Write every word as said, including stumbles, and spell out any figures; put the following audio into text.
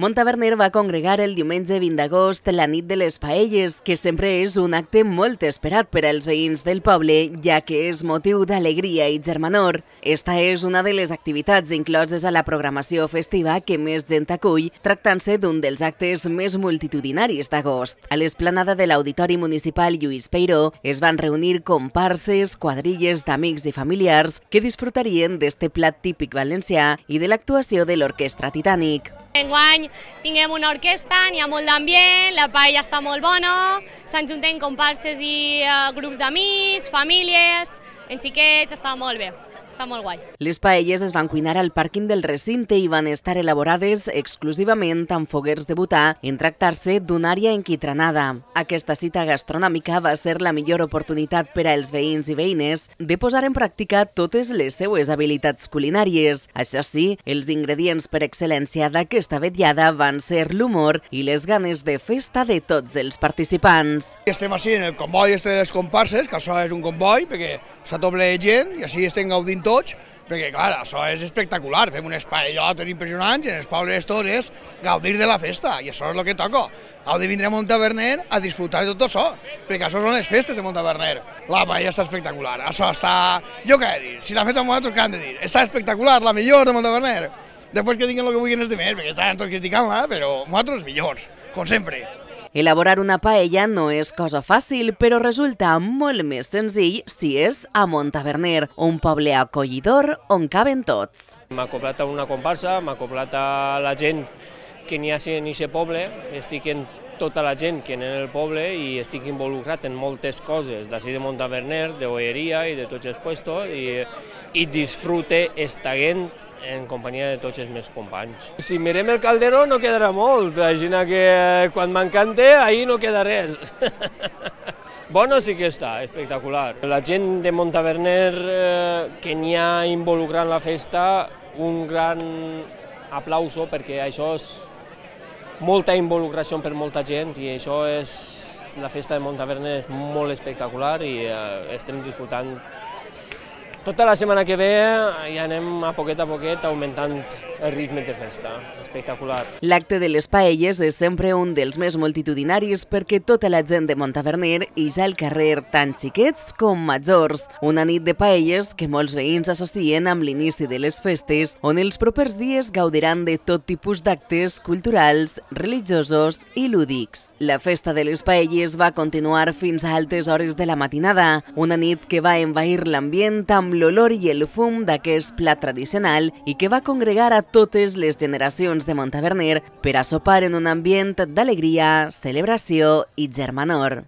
Montaverner va congregar el diumenge vint d'agost la nit de les paelles, que sempre és un acte molt esperat per als veïns del poble, ja que és motiu d'alegria i germanor. Esta és una de les activitats incloses a la programació festiva que més gent acull, tractant-se d'un dels actes més multitudinaris d'agost. A l'esplanada de l'Auditori Municipal Lluís Peiró es van reunir comparses, quadrilles d'amics i familiars que disfrutarien d'este plat típic valencià i de l'actuació de l'Orquestra Titànic. Enguany tinguem una orquestra, n'hi ha molt d'ambient, la paella està molt bona, s'enjunten comparses i uh, grups d'amics, famílies, en xiquets, està molt bé. Està molt guai. Les paelles es van cuinar al pàrquing del recinte i van estar elaborades exclusivament amb foguers de butà en tractar-se d'una àrea enquitranada. Aquesta cita gastronòmica va ser la millor oportunitat per als veïns i veïnes de posar en pràctica totes les seues habilitats culinàries. Això sí, els ingredients per excel·lència d'aquesta vetllada van ser l'humor i les ganes de festa de tots els participants. Estem així en el comboi este de les comparses, que això és un comboi perquè s'ha tot ple de gent i així estem gaudint tots, perquè clar, això és espectacular, fem unes paellotes impressionants i en els pobles tots és gaudir de la festa, i això és el que toca. Heu de vindre a Montaverner a disfrutar de tot això, perquè això són les festes de Montaverner. La paella està espectacular, això està... Jo què he de dir, si l'han fet amb nosaltres, què han de dir? Està espectacular, la millor de Montaverner. Després que diguin el que vulguin els demés, perquè estan tots criticant-la, però nosaltres millors, com sempre. Elaborar una paella no és cosa fàcil, però resulta molt més senzill si és a Montaverner, un poble acollidor on caben tots. M'ha acoplat a una comparsa, m'ha acoplat a la gent que n'hi ha en aquest poble, estic en tota la gent que n'hi ha en el poble i estic involucrat en moltes coses, d'ací de Montaverner, de Olleria i de tots els puestos, i, i disfrute estaguent en companyia de tots els meus companys. Si mirem el calderó no quedarà molt, així que quan m'encante ahir no queda res. Bueno sí que està, espectacular. La gent de Montaverner eh, que n'hi ha involucrat en la festa, un gran aplauso perquè això és molta involucració per molta gent i això és, la festa de Montaverner és molt espectacular i eh, estem disfrutant. Tota la setmana que ve ja anem a poquet a poquet augmentant el ritme de festa. Espectacular. L'acte de les paelles és sempre un dels més multitudinaris perquè tota la gent de Montaverner ix al carrer, tant xiquets com majors. Una nit de paelles que molts veïns associen amb l'inici de les festes, on els propers dies gaudiran de tot tipus d'actes culturals, religiosos i lúdics. La festa de les paelles va continuar fins a altes hores de la matinada, una nit que va envair l'ambient amb l'olor i el fum d'aquest plat tradicional i que va congregar a totes les generacions de Montaverner per a sopar en un ambient d'alegria, celebració i germanor.